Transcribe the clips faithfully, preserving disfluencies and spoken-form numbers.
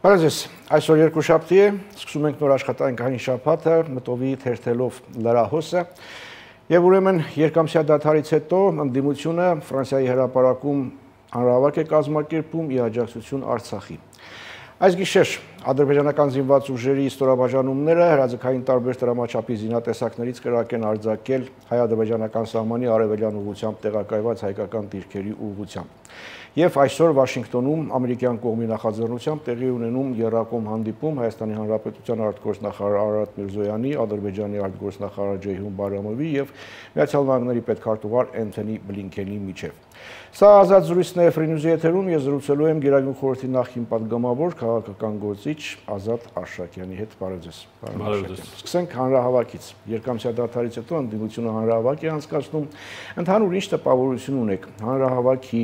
Բարեզես, այսօր երկուշաբթի է, սկսում ենք նոր աշխատանքային շաբաթը, մտովի թերթելով լրահոսը, եւ ուրեմն երկամսյա դադարից հետո ընդդիմությունը Ֆրանսիայի հրապարակում հանրահավաք է կազմակերպում ի աջակցություն Արցախի։ Այս գիշեր ադրբեջանական զինված ուժերի ստորաբաժանումները հրաձգային տարբեր տրամաչափի զինատեսակներից կրակ են արձակել հայ-ադրբեջանական սահմանի արևելյան ուղղությամբ տեղակայված հայկական դիրքերի ուղղությամբ։ Եվ այսօր Վաշինգտոնում ամերիկյան կողմի նախաձեռնությամբ տեղի ունենում եռակողմ հանդիպում Հայաստանի Հանրապետության արտգործնախարար Արարատ Միրզոյանի, Ադրբեջանի արտգործնախարար Ջեյհուն Բարամովի եւ Միացյալ Նահանգների պետքարտուղար Էնթոնի Բլինքենի միջև։ Սա ազատ զրույցն է Free News-ի եթերում, ես զրուցելու եմ Գերագույն խորհրդի նախին պատգամավոր քաղաքական գործիչ Ազատ Արշակյանի հետ։ Բարև ձեզ։ Սկսենք հանրահավաքից։ Երկամսյա դադարից հետո ընդդիմությունը հանրահավաք է անցկացնում։ Ընդհանուր ինչ տպավորություն ունեք հանրահավաքի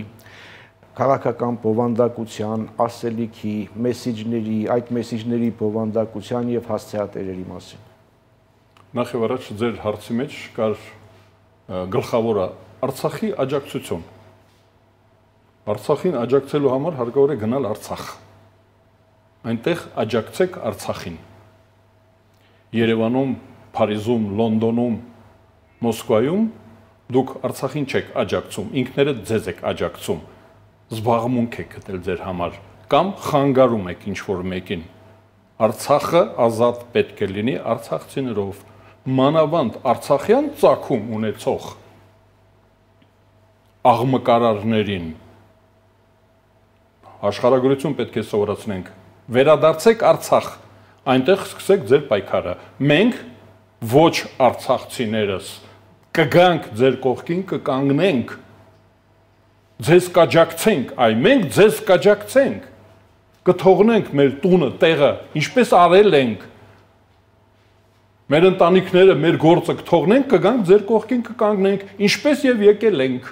քաղաքական բովանդակության, ասելիքի, մեսիջների, այդ մեսիջների բովանդակության եւ հասցեատերերի մասին։ Նախ եւ առաջ ձեր հարցի մեջ կար գլխավորը Արցախի աջակցություն։ Արցախին աջակցելու համար հարկավոր է գնալ Արցախ։ Այնտեղ աջակցեք Արցախին։ Երևանում, Փարիզում, Լոնդոնում, Մոսկվայում դուք Արցախին չեք աջակցում, ինքներդ ձեզ եք աջակցում։ Զբաղմունք եք գտել ձեր համար կամ խանգարում եք ինչ-որ մեկին։ Արցախը ազատ պետք է լինի արցախցիներով, մանավանդ արցախյան ծագում ունեցող աղմկարարներին։ Աշխարհագրություն պետք է սովորացնենք։ Վերադարձեք Արցախ, այնտեղ սկսեք ձեր պայքարը։ Մենք ոչ արցախցիներս կգանք ձեր կողքին, կկանգնենք, ձեզ կաջակցենք, այ մենք ձեզ կաջակցենք, կթողնենք մեր տունը, տեղը, ինչպես արել ենք, մեր ընտանիքները, մեր գործը կթողնենք, կգանք ձեր կողքին, կկանգնենք, ինչպես եւ եկել ենք,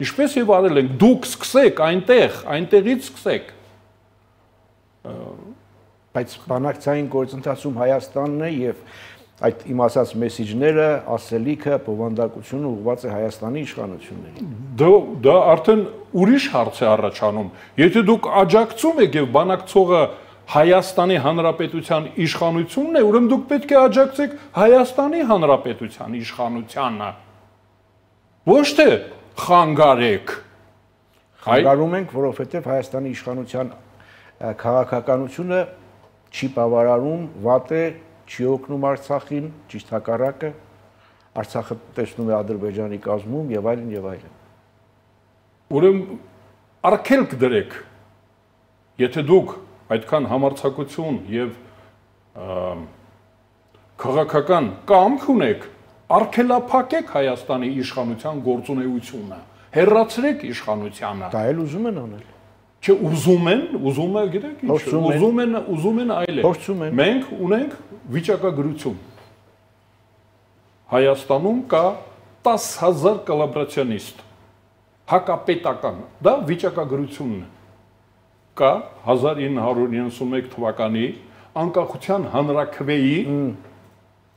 ինչպես եւ արել ենք, դուք սկսեք այնտեղ, այնտեղից սկսեք։ Բայց բանակցային գործընթացում Հայաստանն է եւ այդ իմ ասած մեսիջները, ասելիքը, բովանդակությունը ուղղված է Հայաստանի իշխանություններին։ Դա արդեն ուրիշ հարց է առաջանում։ Եթե դուք աջակցում եք եւ բանակցողը Հայաստանի Հանրապետության իշխանությունն է, ուրեմն դուք պետք է աջակցեք Հայաստանի Հանրապետության իշխանությանը։ Ոչ թե խանգարեք։ Խանգարում ենք, որովհետեւ Հայաստանի իշխանության քաղաքականությունը չի բավարարում, վատ է, չի օգնում Արցախին, ճիշտ հակառակը, Արցախը տեսնում է Ադրբեջանի կազմում եւ այլն եւ այլն։ Ուրեմն արգելք դրեք, եթե դուք այդքան համարձակություն եւ քաղաքական կամք ունեք, արգելափակեք Հայաստանի իշխանության գործունեությունը, հեռացրեք իշխանությանը։ Դա էլ ուզում են անել։ Չէ, ուզում են, ուզում է, գիտեք ինչ, ուզում են, ուզում են այլել։ Մենք ունենք վիճակագրություն։ Հայաստանում կա տասը հազար կոլաբորացիոնիստ, հակապետական, դա վիճակագրությունն է։ Կա հազար ինը հարյուր իննսունմեկ թվականի անկախության հանրաքվեի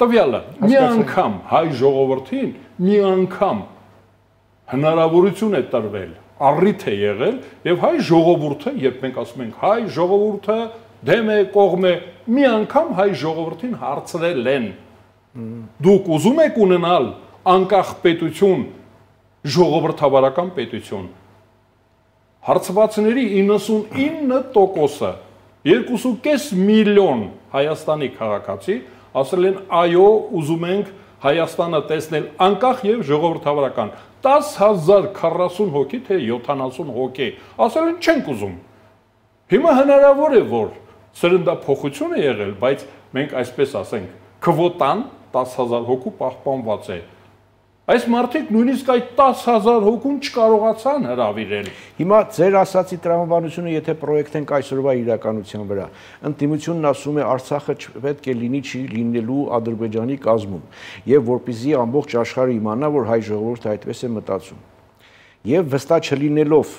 տվյալը։ Մի անգամ հայ ժողովրդին մի անգամ հնարավորություն է տրվել, առիթ է եղել եւ հայ ժողովուրդը, երբ մենք ասում ենք հայ ժողովուրդը դեմ է, կողմ է, մի անգամ հայ ժողովրդին հարցրել են։ Դուք ուզում եք ունենալ անկախ պետություն, ժողովրդավարական պետություն։ Հարցվածների իննսունինը տոկոսը, երկուսուկես միլիոն Հայաստանի քաղաքացի ասել են այո, ուզում ենք Հայաստանը տեսնել անկախ եւ ժողովրդավարական։ տասը հազար քառասուն հոգի թե յոթանասուն հոգի ասել են չենք ուզում։ Հիմա հնարավոր է որ սրնդափոխություն է եղել, բայց մենք այսպես ասենք, քվոտան տասը հազար հոգու պահպանված է։ Այս մարդիկ նույնիսկ այդ տասը հազար հոգուն չկարողացան հրավիրել։ Հիմա ձեր ասացի տրամաբանությունը, եթե պրոյեկտենք այսօրվա իրականության վրա, ընդդիմությունն ասում է Արցախը պետք է լինի չի լինելու Ադրբեջանի կազմում, եւ որպեսզի ամբողջ աշխարհը իմանա, որ հայ ժողովուրդը այդպես է մտածում։ Եվ վստահ չլինելով,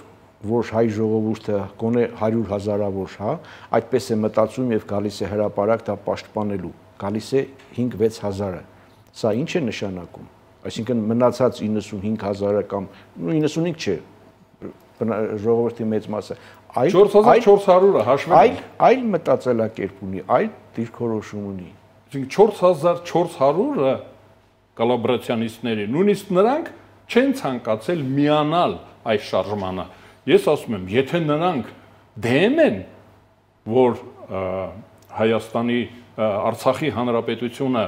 որ հայ ժողովուրդը գոնե հարյուր հազարավոր, հա, այդպես է մտածում եւ գալիս է հրապարակ դա պաշտպանելու, գալիս է հինգ-վեց հազարը։ Սա ինչ է նշանակում։ Այսինքն մնացած իննսունհինգ հազարը կամ իննսունհինգ չէ, ժողովրդի մեծ մասը չորս հազար չորս հարյուրը հաշվել։ Այլ այլ մտածելակերպ ունի, այլ դիրքորոշում ունի։ Այսինքն չորս հազար չորս հարյուրը կոլաբորացիոնիստների, նույնիսկ նրանք չեն ցանկացել միանալ այս շարժմանը։ Ես ասում եմ, եթե նրանք դեմ են, որ Հայաստանի Արցախի հանրապետությունը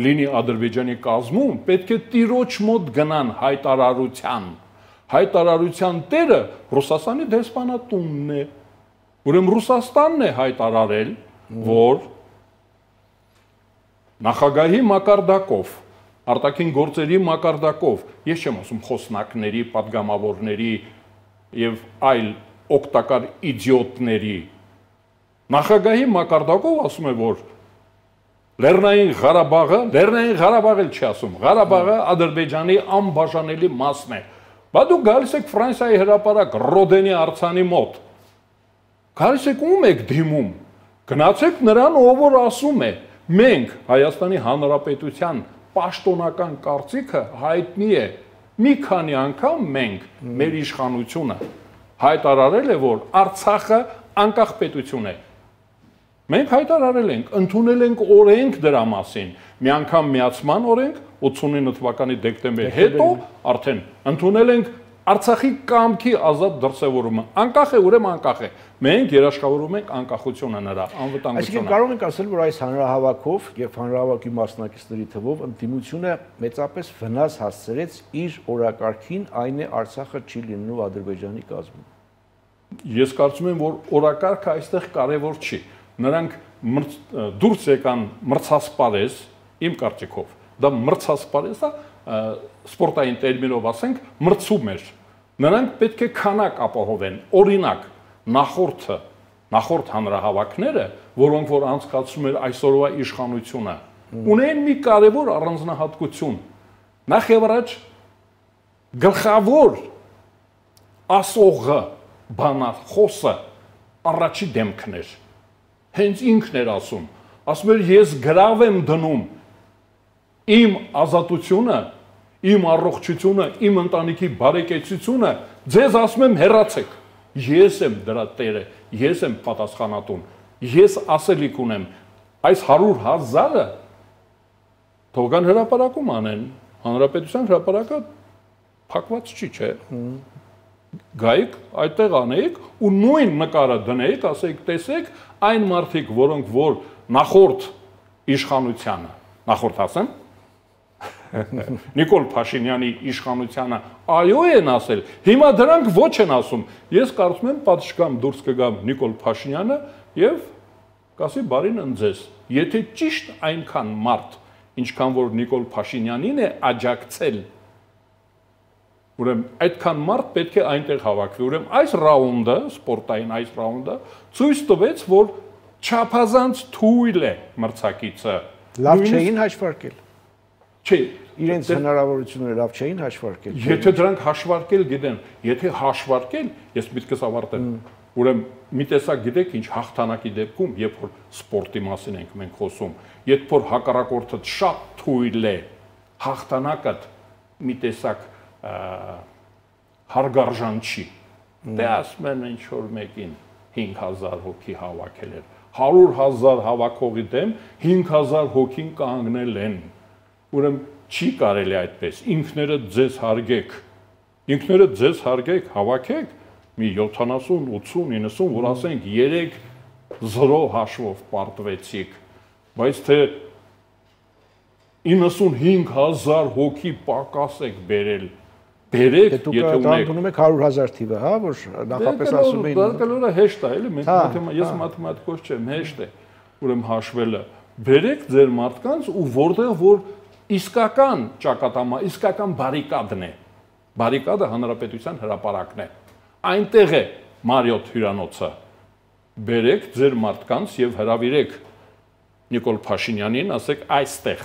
լինի Ադրբեջանի կազմում, պետք է տիրոջ մոտ գնան հայտարարության։ Հայտարարության տերը Ռուսաստանի դեսպանատունն է։ Ուրեմն Ռուսաստանն է հայտարարել, որ նախագահի մակարդակով, արտաքին գործերի մակարդակով, ես չեմ ասում խոսնակների, պատգամավորների եւ այլ օգտակար իդիոտների, նախագահի մակարդակով ասում է, որ Լեռնային Ղարաբաղը, Լեռնային Ղարաբաղը չի ասում, Ղարաբաղը Ադրբեջանի անբաժանելի մասն է։ Բա դու գալիս եք Ֆրանսիայի հրապարակ Ռոդենի արձանի մոտ։ Գալիս եք ում եք դիմում։ Գնացեք նրան, ով որ ասում է, մենք Հայաստանի Հանրապետության պաշտոնական կարծիքը հայտնի է։ Մի քանի անգամ մենք մեր իշխանությունը հայտարարել է, որ Արցախը անկախ պետություն է։ Մենք հայտարարել ենք, ընդունել ենք օրենք դրա մասին, մի անգամ միացման օրենք ութսունինը թվականի դեկտեմբեր հետո արդեն ընդունել ենք Արցախի կամքի ազատ դրսևորումը, անկախ է, ուրեմն անկախ է, մենք երաշխավորում ենք անկախությունը նրա, անվտանգությունը։ Այսինքն կարող ենք ասել, որ այս հանրահավաքով եւ հանրահավաքի մասնակիցների թվով ընդդիմությունը մեծապես վնաս հասցրեց իր օրակարգին, այն է Արցախը չի լինելու Ադրբեջանի կազմում։ Ես կարծում եմ, որ օրակարգը այստեղ կարևոր չի։ Նրանք դուրս եկան մրցասպարեզ, իմ կարծիքով, դա մրցասպարեզ է, սպորտային տերմինով ասենք, մրցում էր։ Նրանք պետք է քանակ ապահովեն, օրինակ, նախորդը, նախորդ հանրահավաքները, որոնք որ անցկացում էր այսօրվա իշխանությունը, ունեն մի կարևոր առանձնահատկություն։ Նախ եւ առաջ գլխավոր ասողը, բանախոսը առաջի դեմքն էր։ Հենց ինքն էր ասում, ասում էր ես գրավ եմ դնում իմ ազատությունը, իմ առողջությունը, իմ ընտանիքի բարեկեցությունը, ձեզ ասում եմ հեռացեք, ես եմ դրա տերը, ես եմ պատասխանատուն, ես ասելիք ունեմ, այս հարյուր հազարը թողան հրապարակում անեն, հանրապետության հրապարակը փակված չի, չէ։ Գայիք, այդտեղ անեիք ու նույն նկարը դնեիք, ասեիք, տեսեք, այն մարդիկ, որոնք որ նախորդ իշխանությանը, նախորդ ասեմ, Նիկոլ Փաշինյանի իշխանությանը այո են ասել, հիմա դրանք ոչ են ասում։ Ես կարծում եմ պատշգամ դուրս կգամ Նիկոլ Փաշինյանը եւ կասի բարին ընձես։ Եթե ճիշտ այնքան մարդ, ինչքան որ Նիկոլ Փաշինյանին է աջակցել, ուրեմն այդքան մարդ պետք է այնտեղ հավաքվի։ Ուրեմն այս ռաունդը, սպորտային այս ռաունդը ցույց տվեց, որ չափազանց թույլ է մրցակիցը։ Լավ չէին հաշվարկել։ Չէ, իրենց հնարավորությունները լավ չէին հաշվարկել։ Եթե դրանք հաշվարկել գիտեն, եթե հաշվարկել, ես միտքս ավարտեմ։ Ուրեմն մի տեսակ գիտեք ինչ հաղթանակի դեպքում, երբ որ սպորտի մասին ենք մենք խոսում, երբ որ հակառակորդը շատ թույլ է, հաղթանակը մի տեսակ հարգարժան չի։ Դե ասում են ինչ որ մեկին հինգ հազար հոգի հավաքել էր։ հարյուր հազար հավաքողի դեմ հինգ հազար հոգին կանգնել են։ Ուրեմն չի կարելի այդպես, ինքներդ ձեզ հարգեք, ինքներդ ձեզ հարգեք, հավաքեք մի յոթանասուն, ութսուն, իննսուն, որ ասենք երեք զրո հաշվով պարտվեցիք, բայց թե իննսունհինգ հազար հոգի պակաս եք բերել, բերեք, եթե ունեք։ Դուք եք հարյուր հազար թիվը, հա, որ նախապես ասում էին։ Դա կլորը հեշտ է, էլի, ես մաթեմատիկոս չեմ, հեշտ է, ուրեմն հաշվելը։ Բերեք ձեր մարդկանց ու որտեղ որ իսկական ճակատամա, իսկական բարիկադն է։ Բարիկադը հանրապետության հրապարակն է։ Այնտեղ է Մարիոթ հյուրանոցը։ Բերեք ձեր մարդկանց եւ հրավիրեք Նիկոլ Փաշինյանին, ասեք այստեղ։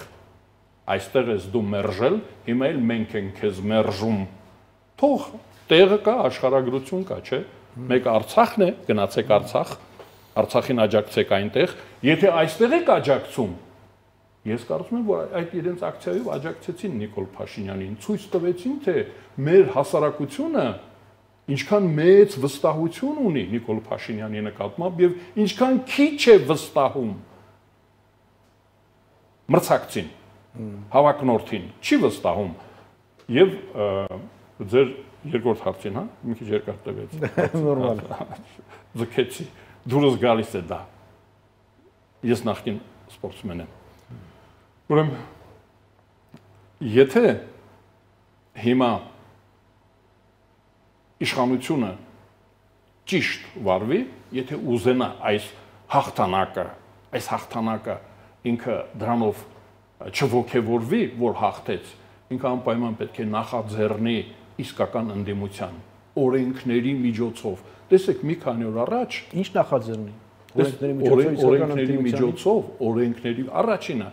Այստեղ ես դու մերժել, հիմա էլ մենք ենք քեզ մերժում։ Թող տեղը կա, աշխարհագրություն կա, չէ՞։ Մեկ Արցախն է, գնացեք Արցախ, Արցախին աջակցեք այնտեղ։ Եթե այստեղ եք աջակցում, ես կարծում եմ, որ այդ իրենց ակցիայով աջակցեցին Նիկոլ Փաշինյանին, ցույց տվեցին, թե մեր հասարակությունը ինչքան մեծ վստահություն ունի Նիկոլ Փաշինյանի նկատմամբ եւ ինչքան քիչ է վստահում մրցակցին, հավակնորդին, չի վստահում եւ ձեր երկրորդ հարցին, հա, մի քիչ երկար տևեց։ Նորմալ։ Ձգեցի, դուրս գալիս է դա։ Ես նախկին սպորտսմեն եմ։ Ուրեմն եթե հիմա իշխանությունը ճիշտ վարվի, եթե ուզենա այս հաղթանակը, այս հաղթանակը ինքը դրանով չողոքեվորվի, որ հաղթեց, ինքը անպայման պետք է նախաձեռնի իսկական ընդդիմության օրենքների միջոցով։ Տեսեք, մի քանի օր առաջ ինչ նախաձեռնի։ Օրենքների միջոցով, օրենքների առաջինը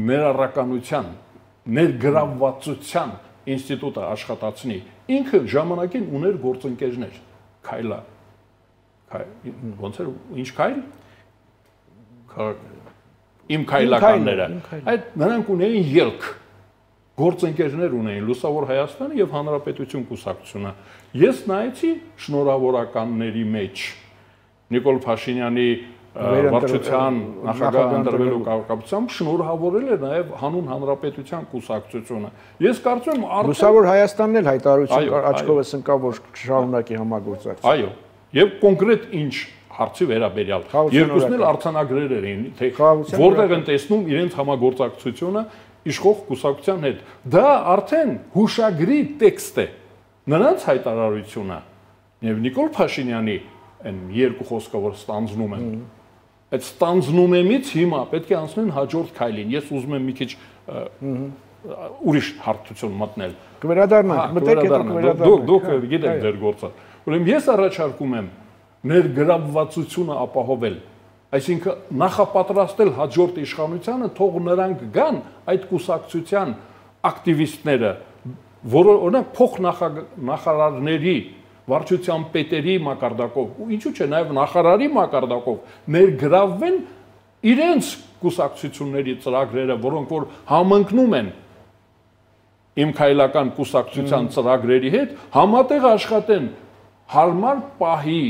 մեր առականության, ներգրավվածության ինստիտուտը աշխատացնի, ինքը ժամանակին ուներ գործընկերներ, Քայլա, ոնց էր, ինչ Քայլ, իմ քայլականները, այդ նրանք ունեին ելք, գործընկերներ ունեին Լուսավոր Հայաստանը եւ Հանրապետություն կուսակցությունը։ Ես նայեցի շնորհավորականների մեջ Նիկոլ Փաշինյանի վարչության նախագահ ընտրվելու կապակցությամբ շնորհավորել է նաև հանուն Հանրապետության կուսակցությունը։ Ես կարծում եմ Լուսավոր Հայաստանն էլ հայտարարություն աչքովս ընկավ, որ շարունակի համագործակցություն։ Այո, եւ կոնկրետ ինչ հարցի վերաբերյալ երկուսն էլ արձանագրեր էին, թե որտեղ են տեսնում իրենց համագործակցությունը իշխող կուսակցության հետ։ Դա արդեն հուշագրի տեքստ է։ Նրանց հայտարարությունը եւ Նիկոլ Փաշինյանի այն երկու խոսքը, որ ստանձնում են, այդ ստանձնում εμից հիմա պետք է անցնեն հաջորդ քայլին։ Ես ուզում եմ մի քիչ ուրիշ հարթություն մտնել։ Կվերադառնանք, մտեք հետո կվերադառնանք։ Դուք գիտեք ձեր գործը։ Ուրեմն ես առաջարկում եմ ներգրավվածությունը ապահովել, այսինքն նախապատրաստել հաջորդ իշխանությանը, թող նրանք գան այդ կուսակցության ակտիվիստները, որը օրինակ փոխնախարարների վարչության պետերի մակարդակով, ու ինչու՞ չէ, նաև նախարարի մակարդակով ներգրավվեն իրենց կուսակցությունների ծրագրերը, որոնք որ համընկնում են իմ քայլական կուսակցության ծրագրերի հետ, համատեղ աշխատեն հարմար պահի,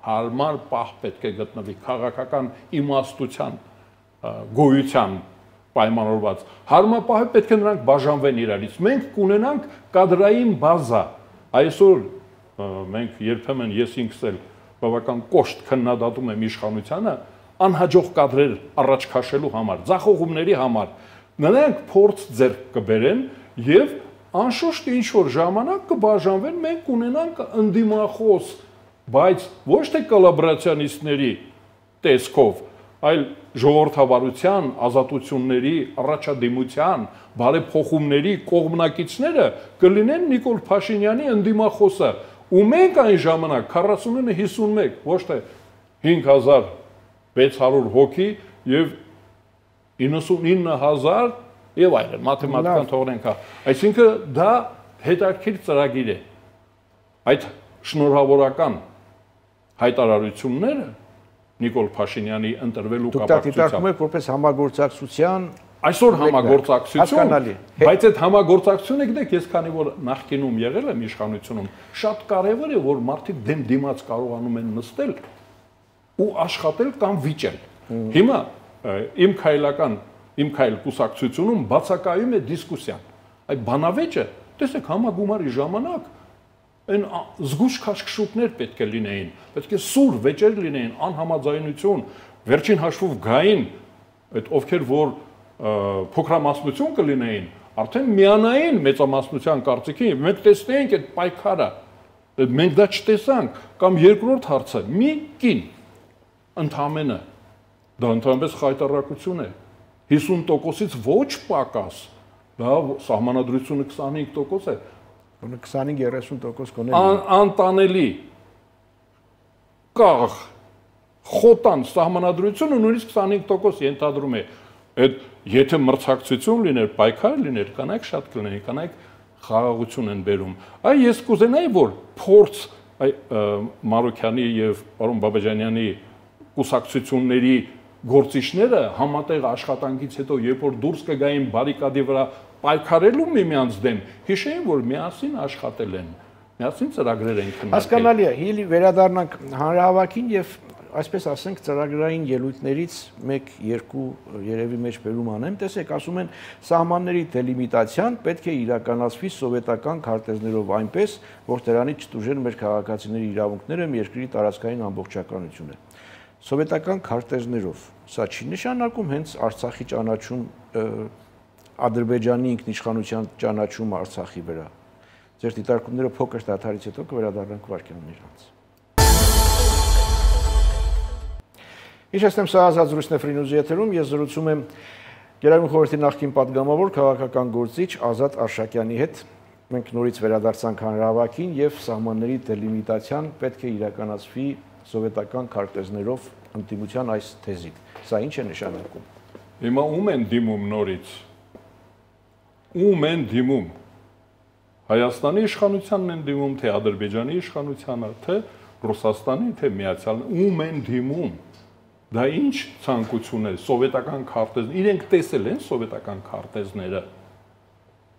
հարմար պահ պետք է գտնվի քաղաքական իմաստության գոյության պայմանավորված։ Հարմար պահը պետք է նրանք բաժանվեն իրարից։ Մենք կունենանք կադրային բազա։ Այսօր մենք երբեմն ես ինքս էլ բավական կոշտ քննադատում եմ իշխանությանը անհաջող կադրեր առաջ քաշելու համար, ձախողումների համար։ Նրանք փորձ ձեռք կբերեն եւ անշուշտ ինչ որ ժամանակ կբաժանվեն, մենք կունենանք ընդդիմախոս, բայց ոչ թե կոլաբորացիոնիստների տեսքով, այլ ժողովրդավարության, ազատությունների, առաջադիմության, բարեփոխումների կողմնակիցները կլինեն Նիկոլ Փաշինյանի ընդդիմախոսը, ու մենք այն ժամանակ քառասունինը հիսունմեկ, ոչ թե հինգ հազար վեց հարյուր հոգի եւ իննսունինը հազար եւ այլն, մաթեմատիկան թողնենք, այսինքն դա հետաքրքիր ծրագիր է։ Այդ շնորհավորական հայտարարությունները Նիկոլ Փաշինյանի ընտրվելու կապակցությամբ։ Դուք դիտարկում եք որպես համագործակցության այսօր համագործակցություն, բայց այդ համագործակցությունը գիտեք, ես քանի որ նախկինում եղել եմ իշխանությունում, շատ կարևոր է, որ մարդիկ դեմ դիմաց կարողանում են նստել ու աշխատել կամ վիճել։ Հիմա իմ քայլական, իմ քայլ կուսակցությունում բացակայում է դիսկուսիան։ Այդ բանավեճը, տեսեք, համագումարի ժամանակ այն զգուշ քաշքշուկներ պետք է լինեին, պետք է սուր վեճեր լինեին, անհամաձայնություն, վերջին հաշվով գային, այդ ովքեր որ փոքրամասնություն կլինեին, արդեն միանային մեծամասնության կարծիքին, մենք տեսնեինք այդ պայքարը, մենք դա չտեսանք, կամ երկրորդ հարցը, մի կին ընդամենը, դա ընդհանրապես խայտարակություն է, հիսուն տոկոսից ոչ պակաս, դա սահմանադրությունը քսանհինգ տոկոս է, քսանհինգ երեսուն տոկոս կոնել անտանելի կաղ խոտան սահմանադրությունը նույնիսկ քսանհինգ տոկոս ենթադրում է։ Այդ եթե մրցակցություն լիներ, պայքար լիներ, կանայք շատ կլինեին, կանայք խաղաղություն են բերում։ Այ ես կուզենայի, որ փորձ Մարուքյանի եւ պարոն Բաբաջանյանի կուսակցությունների գործիչները համատեղ աշխատանքից հետո, երբ որ դուրս կգային բարիկադի վրա պայքարելու միմյանց դեմ, հիշեին, որ միասին աշխատել են։ Միասին ծրագրեր են քննարկել։ Հասկանալի է, հիլի վերադառնանք հանրահավաքին եւ այսպես ասենք ծրագրային ելույթներից մեկ երկու երևի մեջ բերում անեմ, տեսեք, ասում են սահմանների դելիմիտացիան պետք է իրականացվի սովետական քարտեզներով այնպես, որ դրանից չտուժեն մեր քաղաքացիների իրավունքները, երկրի տարածքային ամբողջականությունը։ Սովետական քարտեզներով, սա չի նշանակում հենց Արցախի ճանաչում, Ադրբեջանի ինքնիշխանության ճանաչում Արցախի վրա։ Ձեր դիտարկումները փոքր դադարից հետո կվերադառնանք վարքյաններ անց։ Իհարկե, սա ազատ զրույցն է Free News-ի եթերում, ես զրուցում եմ Գերագույն խորհրդի նախկին պատգամավոր քաղաքական գործիչ Ազատ Արշակյանի հետ։ Մենք նորից վերադարձանք հանրահավաքին եւ սահմանների դելիմիտացիան պետք է իրականացվի սովետական քարտեզներով ընդդիմության այս թեզին։ Սա ինչ է նշանակում։ Հիմա ում են դիմում նորից։ Ում են դիմում։ Հայաստանի իշխանությանն են դիմում, թե Ադրբեջանի իշխանությանը, թե Ռուսաստանի, թե Միացյալ, ում են դիմում։ Դա ինչ ցանկություն է, սովետական քարտեզներ, իրենք տեսել են սովետական քարտեզները։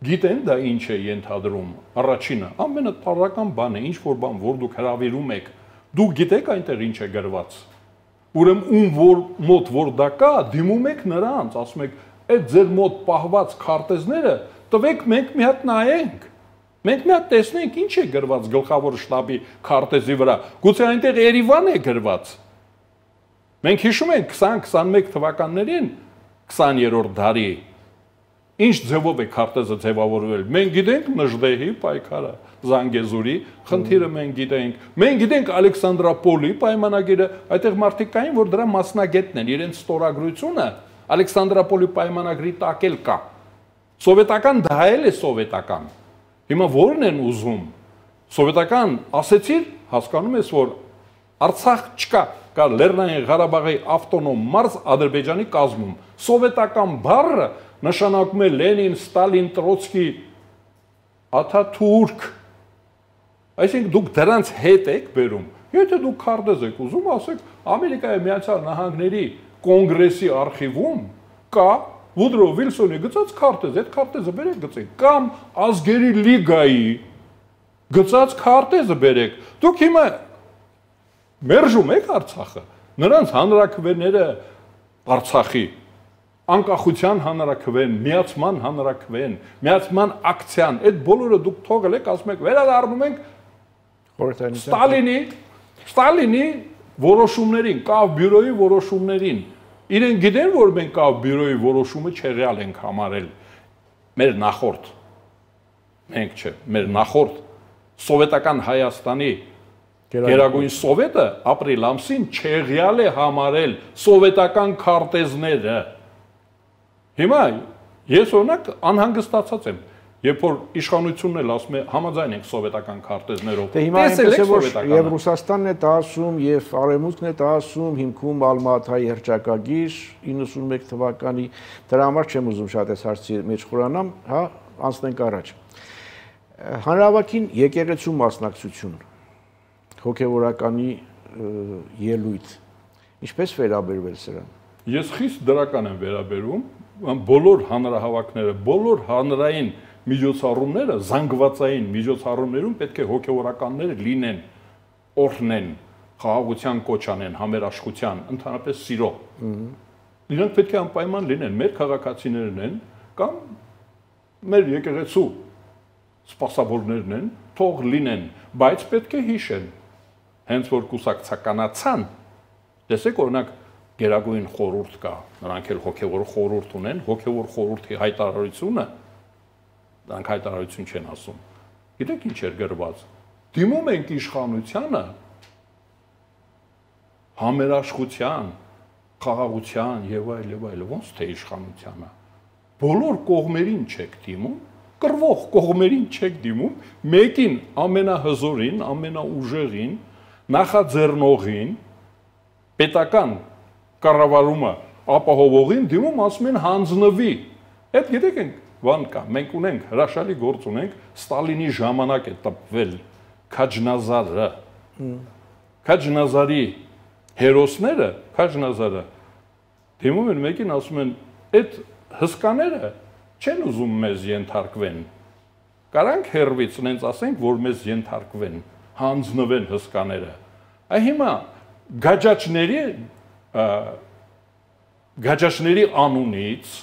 Գիտեն դա ինչ է ենթադրում։ Առաջինը, ամենատարրական բանը, ինչ որ բան, որ դուք հրավիրում եք, դուք գիտեք այնտեղ ինչ է գրված։ Ուրեմն ում որ մոտ որ դա կա, դիմում եք նրանց, ասում եք, այդ ձեր մոտ պահված քարտեզները տվեք, մենք մի հատ նայենք։ Մենք մի հատ տեսնենք ինչ է գրված գլխավոր շտաբի քարտեզի վրա։ Գուցե այնտեղ Երևան է գրված։ Մենք հիշում ենք քսան քսանմեկ թվականներին քսաներորդ դարի ինչ ձևով է քարտեզը ձևավորվել։ Մենք գիտենք Նժդեհի պայքարը, Զանգեզուրի խնդիրը մենք գիտենք։ Մենք գիտենք Ալեքսանդրապոլի պայմանագիրը, այդտեղ մարդիկ կային, որ դրա մասնագետն են, իրենց ստորագրությունը Ալեքսանդրապոլի պայմանագրի տակ էլ կա։ Սովետական դա էլ է սովետական։ Հիմա ո՞րն են ուզում։ Սովետական ասեցիր, հասկանում ես, որ Արցախ չկա, կա Լեռնային Ղարաբաղի ավտոնոմ մարզ Ադրբեջանի կազմում։ Սովետական բառը նշանակում է Լենին, Ստալին, Տրոցկի, Աթաթուրք։ Այսինքն դուք դրանց հետ եք բերում։ Եթե դուք քարտեզ եք ուզում, ասեք Ամերիկայի Միացյալ Նահանգների կոնգրեսի արխիվում կա Վուդրո Վիլսոնի գծած քարտեզ, այդ քարտեզը բերեք գծեք, կամ Ազգերի լիգայի գծած քարտեզը բերեք։ Դուք հիմա մերժում եք Արցախը, նրանց հանրաքվեները Արցախի, անկախության հանրաքվեն, միացման հանրաքվեն, միացման ակցիան, այդ բոլորը դուք թողել եք, ասում եք, վերադառնում ենք Ստալինի, Ստալինի որոշումներին, Կավ բյուրոյի որոշումներին։ Իրենք գիտեն, որ մենք Կավ բյուրոյի որոշումը չեղյալ ենք համարել։ Մեր նախորդ, մենք չէ, մեր նախորդ սովետական Հայաստանի Գերագույն սովետը ապրիլ ամսին չեղյալ է համարել սովետական քարտեզները։ Հիմա ես օրինակ անհանգստացած եմ, երբ որ իշխանությունն էլ ասում է համաձայն ենք սովետական քարտեզներով։ Դե հիմա այնպես է, որ եւ Ռուսաստանն է դա ասում, եւ Արևմուտքն է դա ասում, հիմքում Ալմաթայի հռչակագիր իննսունմեկ թվականի, դրա համար չեմ ուզում շատ այս հարցի մեջ խորանամ, հա, անցնենք առաջ։ Հանրահավաքին եկեղեցու մասնակցություն, հոգևորականի ելույթ, ինչպես վերաբերվել սրան։ Ես խիստ դրական եմ վերաբերում, բոլոր հանրահավաքները, բոլոր հանրային միջոցառումները, զանգվածային միջոցառումներում պետք է հոգևորականներ լինեն, օրհնեն, խաղաղության կոչ անեն, համերաշխության, ընդհանրապես սիրո։ Նրանք պետք է անպայման լինեն, մեր քաղաքացիներն են կամ մեր եկեղեցու սպասավորներն են, թող լինեն, բայց պետք է հիշեն, հենց որ կուսակցականացան, տեսեք օրինակ Գերագույն խորհուրդ կա, նրանք էլ հոգևոր խորհուրդ ունեն, հոգևոր խորհրդի հայտարարությունը, դրանք հայտարարություն չեն ասում։ Գիտեք ինչ էր գրված։ Դիմում ենք իշխանությանը համերաշխության, խաղաղության եւ այլ եւ այլ, ոնց թե իշխանությանը։ Բոլոր կողմերին չեք դիմում, կռվող կողմերին չեք դիմում, մեկին ամենահզորին, ամենաուժեղին, նախաձեռնողին, պետական կառավարումը ապահովողին դիմում ասում են հանձնվի։ Այդ գիտեք ենք բան կա, մենք ունենք հրաշալի գործ ունենք, Ստալինի ժամանակ է տպվել Քաջնազարը։ Քաջնազարի հերոսները, Քաջնազարը դիմում են մեկին ասում են, այդ հսկաները չեն ուզում մեզ ենթարկվեն։ Կարանք հերվից նենց ասենք, որ մեզ ենթարկվեն, հանձնվեն հսկաները։ Այ հիմա գաջաճների գաջաճների անունից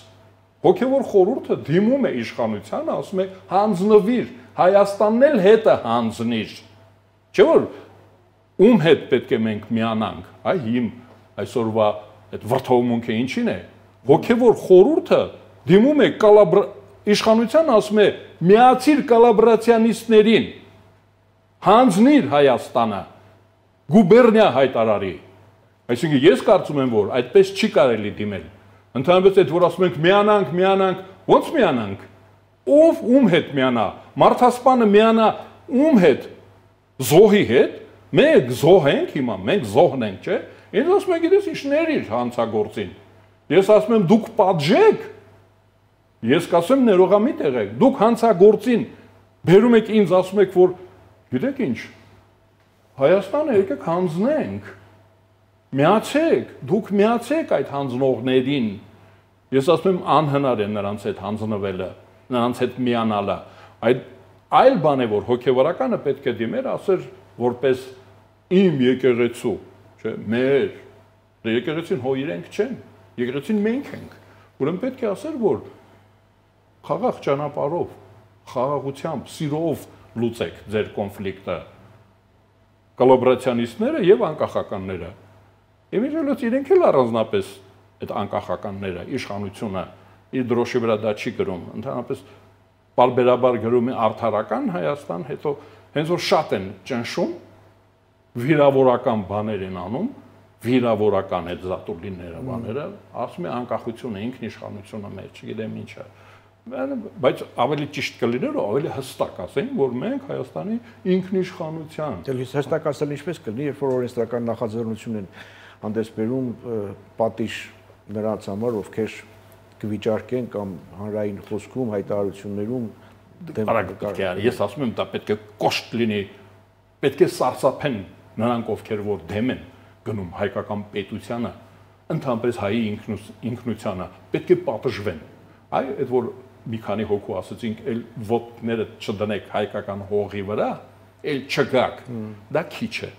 հոգևոր խորհուրդը դիմում է իշխանությանը, ասում է հանձնվիր, Հայաստանն էլ հետը հանձնիր։ Չէ՞ որ ում հետ պետք է մենք միանանք, այ իմ այսօրվա այդ վրթովմունքը ինչին է։ Հոգևոր խորհուրդը դիմում է կալաբր իշխանությանը, ասում է միացիր կալաբրացիանիստներին, հանձնիր Հայաստանը, գուբերնիա հայտարարի։ Այսինքն ես կարծում եմ, որ այդպես չի կարելի դիմել։ Ընդհանրապես այդ որ ասում ենք միանանք, միանանք, ո՞նց միանանք։ Ով ում հետ միանա, մարդասպանը միանա ում հետ, զոհի հետ, մենք զոհ ենք հիմա, մենք զոհն ենք, չէ՞։ Ինձ ասում եք, գիտես ինչ ներիր հանցագործին։ Ես ասում եմ դուք պատժեք, ես կասեմ ներողամիտ եղեք, դուք հանցագործին բերում եք ինձ ասում եք, որ գիտեք ինչ, Հայաստանը եկեք հանձնենք, միացեք, դուք միացեք այդ հանձնողներին։ Ես ասում եմ անհնար է նրանց հետ հանձնվելը, նրանց հետ միանալը։ Այդ այլ բան է, որ հոգևորականը պետք է դիմեր, ասեր որպես իմ եկեղեցու, չէ, մեր, եկեղեցին հո իրենք չեն, եկեղեցին մենք ենք։ Ուրեմն պետք է ասեր, որ խաղաղ ճանապարհով, խաղաղությամբ, սիրով լուծեք ձեր կոնֆլիկտը, կոլաբորացիոնիստները եւ անկախականները։ Իմիջիայլոց իրենք էլ առանձնապես այդ անկախականները, իշխանությունը իր դրոշի վրա դա չի գրում, ընդհանրապես պարբերաբար գրում է արդարական Հայաստան, հետո հենց որ շատ են ճնշում, վիրավորական բաներ են անում, վիրավորական այդ զատուլիները բաները, ասում է անկախությունը, ինքնիշխանությունը մեր, չգիտեմ ինչը։ Բայց ավելի ճիշտ կլիներ ու ավելի հստակ ասենք, որ մենք Հայաստանի ինքնիշխանության։ Դե հստակ ասել ինչպես կլինի, երբ որ օրենսդրական նախաձեռնություն են հանդես բերում պատիժ նրանց համար, ովքեր կվիճարկեն կամ հանրային խոսքում, հայտարարություններում ես ասում եմ, դա պետք է կոշտ լինի, պետք է սարսափեն նրանք, ովքեր որ դեմ են գնում հայկական պետությանը, ընդհանրապես հայի ինքնությանը, պետք է պատժվեն։ Այ այդ որ մի քանի հոգու ասեցինք, էլ ոտները չդնեք հայկական հողի վրա, էլ չգաք, դա քիչ է։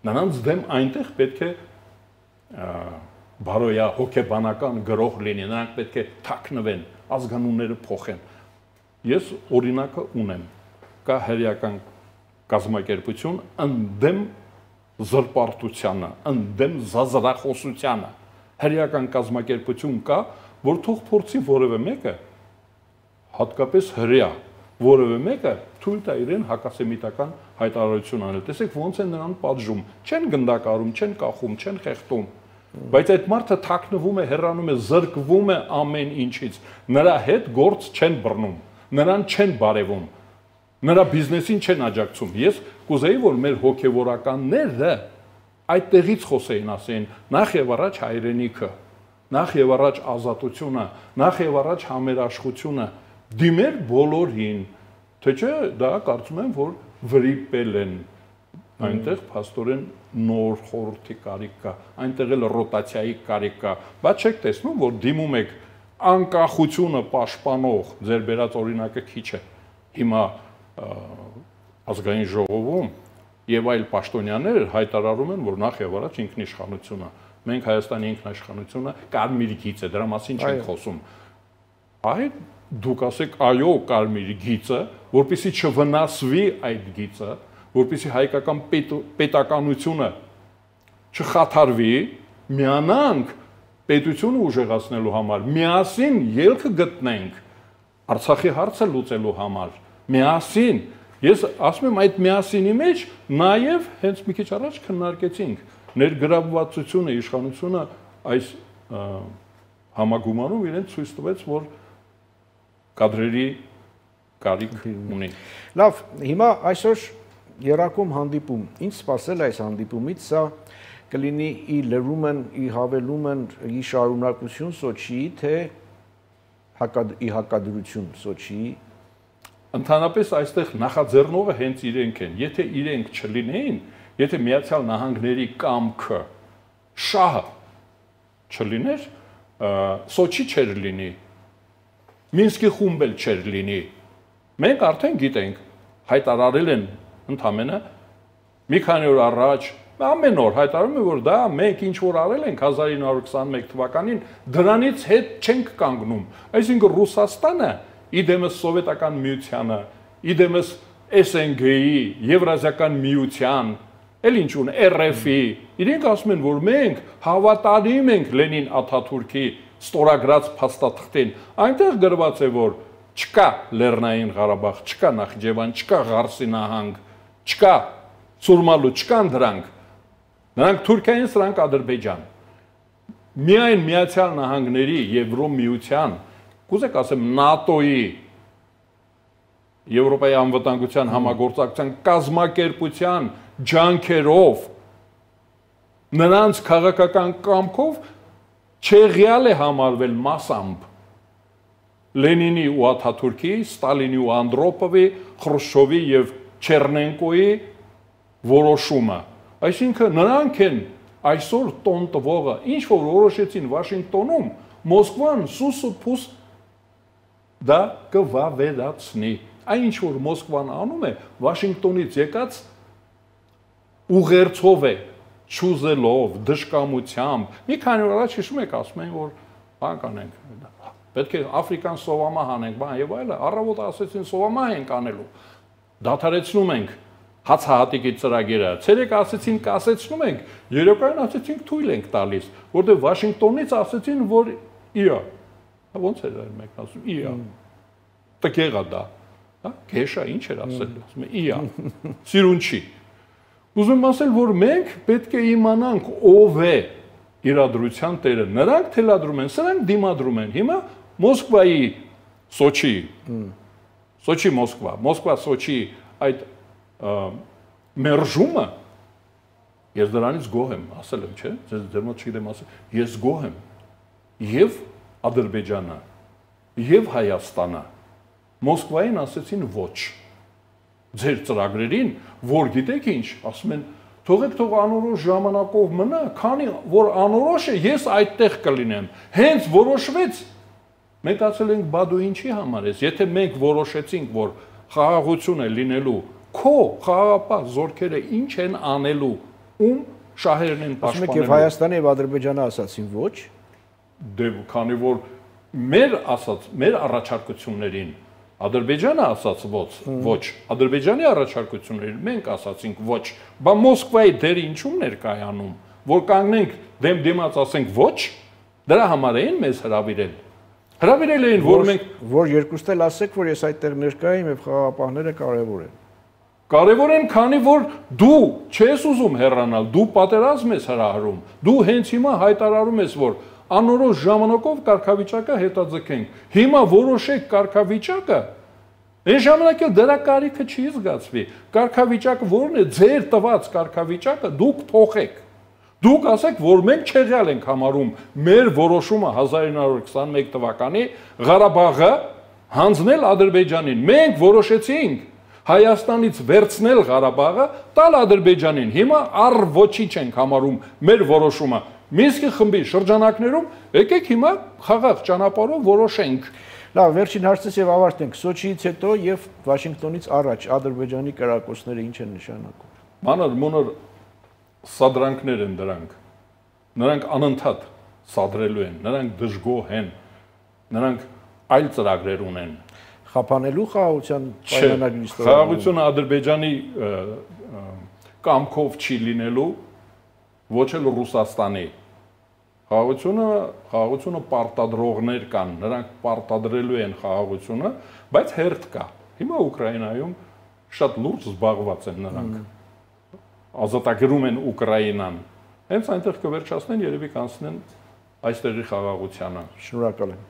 Նրանց դեմ այնտեղ պետք է բարոյա հոգեբանական գրող լինի, նրանք պետք է թաքնվեն, ազգանունները փոխեն։ Ես օրինակը ունեմ, կա հերյական կազմակերպություն ընդդեմ զրպարտությանը, ընդդեմ զազրախոսությանը, հերյական կազմակերպություն կա, որ թող փորձի որևէ մեկը, հատկապես հրեա, որևէ մեկը թույլ տա իրեն հակասեմիտական հայտարարություն անել։ Տեսեք ոնց են նրան պատժում, չեն գնդակարում, չեն կախում, չեն խեղդում, բայց այդ մարդը թաքնվում է, հեռանում է, զրկվում է ամեն ինչից, նրա հետ գործ չեն բռնում, նրան չեն բարևում, նրա բիզնեսին չեն աջակցում։ Ես կուզեի, որ մեր հոգևորականները այդտեղից խոսեին, ասեին, նախ եւ առաջ հայրենիքը, նախ եւ առաջ ազատությունը, նախ եւ առաջ համերաշխությունը, դիմեր բոլորին, թե չէ դա կարծում եմ, որ վրիպել են, այնտեղ փաստորեն նոր խորհրդի կարիք կա, այնտեղ էլ ռոտացիայի կարիք կա, բայց չեք տեսնում, որ դիմում եք անկախությունը պաշտպանող, ձեր բերած օրինակը քիչ է, հիմա ազգային ժողովում եւ այլ պաշտոնյաներ հայտարարում են, որ նախ եւ առաջ ինքնիշխանությունը, մենք Հայաստանի ինքնիշխանությունը կարմիր գիծ է, դրա մասին չենք խոսում։ Այ դուք ասեք այո կարմիր գիծը, որպեսզի չվնասվի այդ գիծը, որպեսզի հայկական պետականությունը չխաթարվի, միանանք պետությունը ուժեղացնելու համար, միասին ելքը գտնենք Արցախի հարցը լուծելու համար, միասին, ես ասում եմ այդ միասինի մեջ նաև հենց մի քիչ առաջ քննարկեցինք ներգրավվածությունը, իշխանությունը այս համագումարում իրեն ցույց տվեց, որ կադրերի կարիք ունի։ Լավ, հիմա այսօր երակոմ հանդիպում, ինչ սպասել այս հանդիպումից, սա կլինի ի լրումն, ի հավելումն, ի շարունակություն Սոչիի, թե ի հակադրություն Սոչիի։ Ընդհանրապես այստեղ նախաձեռնողը հենց իրենք են, եթե իրենք չլինեին, եթե Միացյալ Նահանգների կամքը շահը չլիներ, Սոչի չէր լինի, Մինսկի խումբ էլ չէր լինի, Մենք արդեն գիտենք, հայտարարել են ընդամենը մի քանի օր առաջ, ամեն օր հայտարարում են, որ դա մենք ինչ որ արել ենք հազար ինը հարյուր քսաներկու թվականին, դրանից հետ չենք կանգնում։ Այսինքն Ռուսաստանը իդեմս սովետական միությանը, իդեմս S N G-ի, Եվրազիական միության, էլ ինչ ուն R F-ի, իրենք ասում են, որ մենք հավատարիմ ենք Լենին Աթաթուրքի ստորագրած փաստաթղթին։ Այնտեղ գրված է, որ չկա Լեռնային Ղարաբաղ, չկա Նախիջևան, չկա Ղարսի նահանգ, չկա Սուրմալու, չկան դրանք։ Նրանք Թուրքիային, սրանք Ադրբեջան։ Միայն Միացյալ Նահանգների Եվրոմիության, կուզեք ասեմ ՆԱՏՕ-ի, Եվրոպայի անվտանգության համագործակցության կազմակերպության ջանքերով, նրանց քաղաքական կամքով չեղյալ է համարվել մասամբ Լենինի ու Աթաթուրքի, Ստալինի ու Անդրոպովի, Խրուշչովի եւ Չեռնենկոյի որոշումը։ Այսինքն նրանք են այսօր տոն տվողը, ինչ որ որոշեցին Վաշինգտոնում, Մոսկվան սուս ու փուս դա կվավերացնի։ Այն ինչ որ Մոսկվան անում է, Վաշինգտոնից եկած ուղերձով է, չուզելով, դժկամությամբ։ Մի քանի օր առաջ հիշում եք, ասում են, որ բան կանենք, պետք է Աֆրիկան սովամահ անենք, բան եւ այլը, առավոտ ասեցին սովամահ ենք անելու։ Դադարեցնում ենք հացահատիկի ծրագիրը, ցերեկ ասեցին կասեցնում ենք, երեկոյան ասեցին թույլ ենք տալիս, որտեղ Վաշինգտոնից ասեցին, որ իա։ Ոնց էր մեկն ասում, իա։ Տկեղա դա։ Հա, քեշա ինչ էր ասել, ասում է իա։ Սիրուն չի։ Ուզում ասել, որ մենք պետք է իմանանք ով է իրադրության տերը։ Նրանք թելադրում են, սրանք դիմադրում են։ Հիմա Մոսկվայի Սոչի, Սոչի Մոսկվա, Մոսկվա Սոչի այդ մերժումը, ես դրանից գոհ եմ, ասել եմ, չէ, ձեր մոտ չգիտեմ ասել, ես գոհ եմ եւ Ադրբեջանը, եւ Հայաստանը, Մոսկվային ասեցին ոչ, ձեր ծրագրերին, որ գիտեք ինչ, ասում են, թողեք թող անորոշ ժամանակով մնա, քանի որ անորոշ է, ես այդտեղ կլինեմ, հենց որոշվեց, մենք ասել ենք, բա դու ինչի համար ես, եթե մենք որոշեցինք, որ խաղաղություն է լինելու, քո խաղաղապահ զորքերը ինչ են անելու, ում շահերն են պաշտպանելու։ Ասում եք, եւ Հայաստանը եւ Ադրբեջանը ասացին ոչ։ Դե քանի որ մեր ասած, մեր առաջարկություններին Ադրբեջանը ասաց ոչ, ոչ, Ադրբեջանի առաջարկություններին մենք ասացինք ոչ, բա Մոսկվայի դերը ինչու ներկայանում, որ կանգնենք դեմ դիմաց ասենք ոչ, դրա համար էին մեզ հրավիրել։ Հրավիրել էին, որ մենք որ երկուստ էլ ասեք, որ ես այդտեղ ներկա եմ եւ խաղաղապահները կարեւոր են։ Կարևոր են, քանի որ դու չես ուզում հեռանալ, դու պատերազմ ես հրահրում, դու հենց հիմա հայտարարում ես, որ անորոշ ժամանակով կարգավիճակը հետաձգենք։ Հիմա որոշեք կարգավիճակը, այն ժամանակ էլ դրա կարիքը չի զգացվի։ Կարգավիճակը որն է, ձեր տված կարգավիճակը դուք փոխեք։ Դուք ասեք, որ մենք չեղյալ ենք համարում մեր որոշումը հազար ինը հարյուր քսաներկու թվականի Ղարաբաղը հանձնել Ադրբեջանին։ Մենք որոշեցինք Հայաստանից վերցնել Ղարաբաղը, տալ Ադրբեջանին։ Հիմա առ ոչինչ ենք համարում մեր որոշումը։ Մինսկի խմբի շրջանակներում եկեք հիմա խաղաղ ճանապարհով որոշենք։ Լավ, վերջին հարցից եւ ավարտենք։ Սոչիից հետո եւ Վաշինգտոնից առաջ Ադրբեջանի կրակոցները ինչ են նշանակում։ Մանր մոնոր սադրանքներ են դրանք։ Նրանք անընդհատ սադրելու են, նրանք դժգոհ են, նրանք այլ ծրագրեր ունեն։ Խափանելու խաղաղության պայմանագրի ստորագրումը։ Խաղաղությունը Ադրբեջանի կամքով չի լինելու, ոչ էլ Ռուսաստանի։ Խաղաղությունը, խաղաղությունը պարտադրողներ կան, նրանք պարտադրելու են խաղաղությունը, բայց հերթ կա։ Հիմա Ուկրաինայում շատ լուրջ զբաղված են նրանք։ Ազատագրում են Ուկրաինան։ Հենց այնտեղ կվերջացնեն, երևի կանցնեն այստեղի խաղաղությանը։ Շնորհակալ եմ։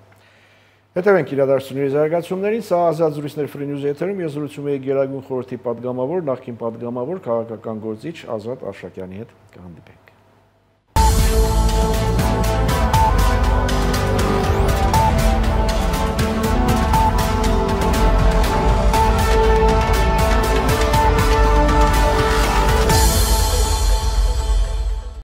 Հետևենք իրադարձությունների զարգացումներին, սա Ազատ զրույցներ Free News եթերում, ես զրուցում եի Գերագույն խորհրդի պատգամավոր, նախկին պատգամավոր, քաղաքական գործիչ Ազատ Արշակյանի հետ, կհանդիպենք։